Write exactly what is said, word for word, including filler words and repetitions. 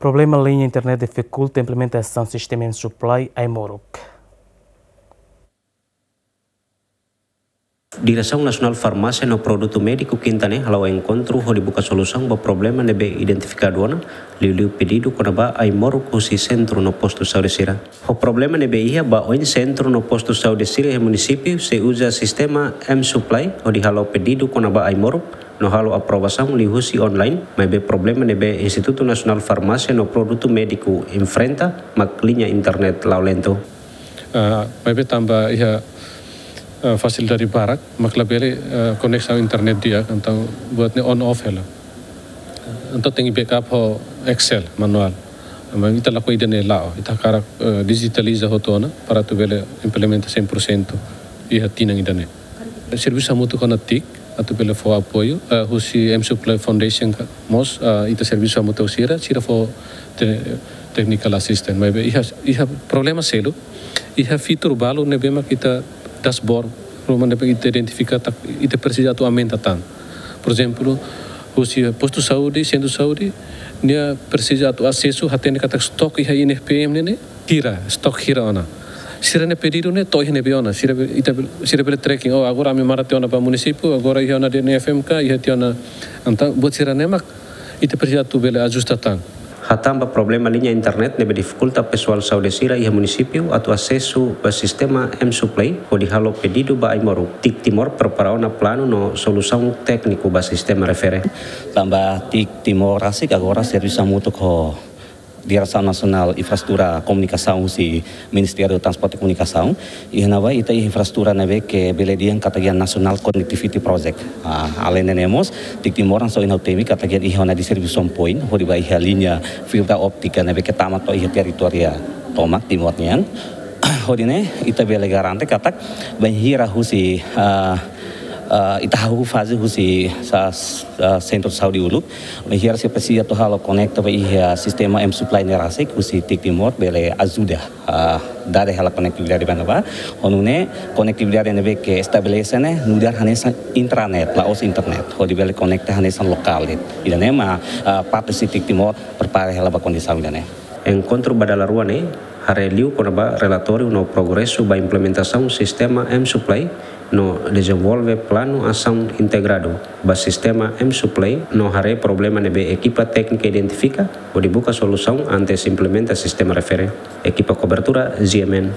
Problema liña internet difikulta implementasaun sistema M-Supply ai-moruk. Diresaun Nasionál Farmásia no Produtu Médiku Kinta ne'e hala'o enkontru hodi buka solusaun ba problema ne'ebé identifikadu ona, liuliu pedidu kona-ba ai-moruk husi sentru no postu saúde sira. Ho problema ne'ebé iha ba oin sentru no postu saúde sira iha munisípiu sei uza sistema M-Supply hodi halo pedidu kona-ba ai-moruk no halo aprovasaun liuhusi online, maibé problema ne'ebé Institutu Nasionál Farmásia no Produtu Médiku enfrenta mak liña internet la'o lentu. Ah, maibé tanba iha, ah, fasilidade barak, mak labele, ah, koneksaun internet di'ak, entaun buat ne'e on off hela. Entaun tenke backup ho Excel manuál. Maibé ita lakohi ida-ne'e la'o, ita hakarak, ah, dijitaliza hotu ona, para atu bele implementa cem por cento iha tinan ida-ne'e. Servisu hamutuk ho TIC, atu bele fó apoiu, ah, husi M-Supply Foundation ka, mós, ah, ita servisu hamutuk ho sira, sira fó te-, technical assistance. Maibé iha, iha problema seluk, iha fitur balu ne'ebé mak ita dashboard, ruma ne'ebé ita identifika katak, ita presiza atu aumenta tan. Por ezemplu, husi postu saúde, sentru saúde, nia presiza atu asesu, hatene katak stok iha I N F P M ne'e, ne'e, hira, stok hira ona. Sira-nia pedidu ne'e to'o iha ne'ebé ona. Sira be-, ita be-, sira bele tracking, oh, agora ami mara tiha ona ba munisípiu, agora iha ona D N F M ka, iha tiha ona, entaun buat sira-ne'e mak ita presiza atu bele ajusta tan. Hatán ba problema liña internet ne'ebé difikulta pesoál saúde sira iha munisípiu atu asesu ba sistema M-Supply hodi halo pedidu ba ai-moruk. TIC Timor prepara ona planu no solusaun tékniku ba sistema refere. Tanba TIC Timor rasik agora servisu hamutuk ho Diresaun Nasionál Infraestrutura Komunikasaun husi Ministériu Transporte Komunikasaun, iha ne'ebá ita iha infraestrutura ne'ebé ke bele dehan katak iha National Connectivity Project. Ah, aleinde ne'e mós, TIC Timor hanesan ohin ha'u temi katak iha ona distribution point, hodi ba iha liña fibra óptika ne'ebé ke tama to'o iha territóriu tomak Timor nian. Hodi nune'e, ita bele garante katak, bainhira husi, ah, ah, ita hahú faze husi sa-, ah, sentru saúde uluk, bainhira se presiza atu halo konekta ba iha sistema M-Supply ne'e rasik, husi TIC Timor bele ajuda, ah, dada hela konektividade ba ne'ebá. Ho nune'e konektividade ne'ebé ke estabelese ne'e nu'udar hanesan intranet, la'ós internet. Hodi bele konekta hanesan lokál de'it. Ida-ne'e mak, ah, parte husi TIC Timor prepara hela ba kondisaun ida-ne'e. Enkontru ba dala rua ne'e haree liu kona-ba relatóriu no progresu ba implementasaun sistema M-Supply no dezenvolve planu asaun integradu ba sistema M-Supply no haree problema ne'ebé ekipa téknika identifika hodi buka solusaun antes implementa sistema refere. Ekipa kobertura, G M N.